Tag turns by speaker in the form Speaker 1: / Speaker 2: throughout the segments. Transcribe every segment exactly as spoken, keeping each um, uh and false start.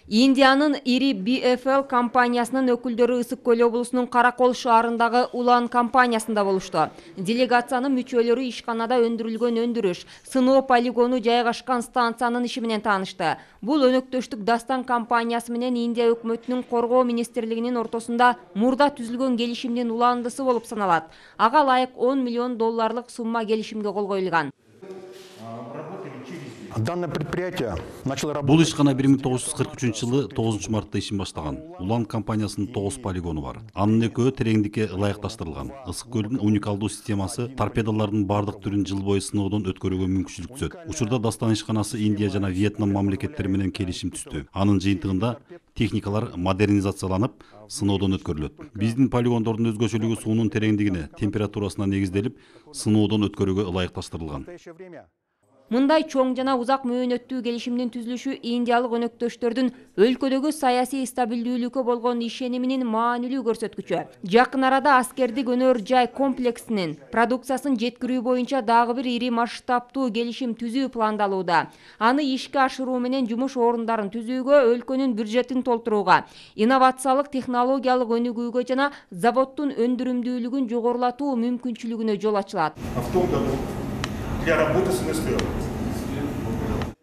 Speaker 1: Индиянын ири би эф эл компаниясынын өкүлдөрү Ысык көл облусунун Каракол шаарындагы Улан компаниясында болушту. Делегациянын мүчөлөрү ишканада өндүрүлгөн өндүрүш, сыноо полигону жайгашкан станциянын иши менен таанышты. Бул өнөктөштүк Дастан компаниясы менен Индия өкмөтүнүн коргоо министрлигинин ортосунда мурда түзүлгөн келишимдин уландысы болуп саналат. Ага ылайык он миллион долларлык сумма келишимге кол коюлган.
Speaker 2: Данное предприятие начало работать.
Speaker 3: Бул ишкана бир миң тогуз жүз кырк үчүнчү жылы тогузунчу мартта ишин баштаган. Улан компаниясынын тогуз полигону бар. Анын экөө тереңдикке ылайыкташтырылган. Ысык көлдүн уникалдуу системасы торпедолордун бардык түрүн жыл бою сыноодон өткөрүүгө мүмкүнчүлүк түзөт. Учурда Дастан ишканасы Индия жана Вьетнам мамлекеттери менен келишим түздү. Анын жыйынтыгында техникалар модернизацияланып, сыноодон өткөрүлөт. Биздин полигондордун өзгөчөлүгү суунун тереңдигине, температурасына негизделип, сыноодон өткөрүүгө ылайыкташтырылган.
Speaker 1: Мындай чоң жана узак мөөнөттүү келишимдин түзүлүшү индиялык өнөктөштөрдүн өлкөдөгү саясий стабилдүүлүккө болгон ишениминин маанилүү көрсөткүчү. Жакын арада аскердик өнөр жай комплексинин продукциясын жеткирүү боюнча дагы бир ири масштабтуу келишим түзүү пландалууда. Аны ишке ашыруу менен жумуш орундарын түзүүгө, өлкөнүн бюджетин толтурууга, инновациялык технологиялык өнүгүүгө жана заводдун өндүрүмдүүлүгүн жогорулатуу мүмкүнчүлүгүнө жол ачылат.
Speaker 2: Для работы с эн эс пэ.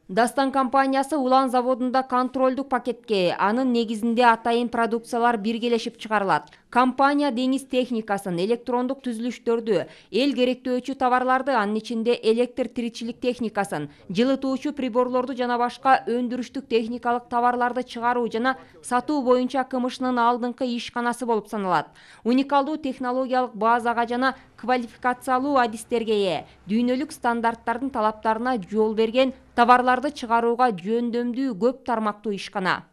Speaker 1: Дастан компаниясы Улан заводунда контролдук пакетке, анын негизинде атайын продукциялар биргелешип чыгарылат. Компания деңиз техникасын, электрондук түзүлүштөрдү, эл керектөөчү товарларды, анын ичинде электр тиричилик техникасын, жылытуучу приборлорду жана башка өндүрүштүк техникалык товарларды чыгаруу жана сатуу боюнча кмшнын алдыңкы ишканасы болуп саналат. Уникалдуу технологиялык базага жана квалификациялуу адистерге ээ, дүйнөлүк стандарттардын талаптарына жол берген товарларды чыгарууга жөндөмдүү көп тармактуу ишкана.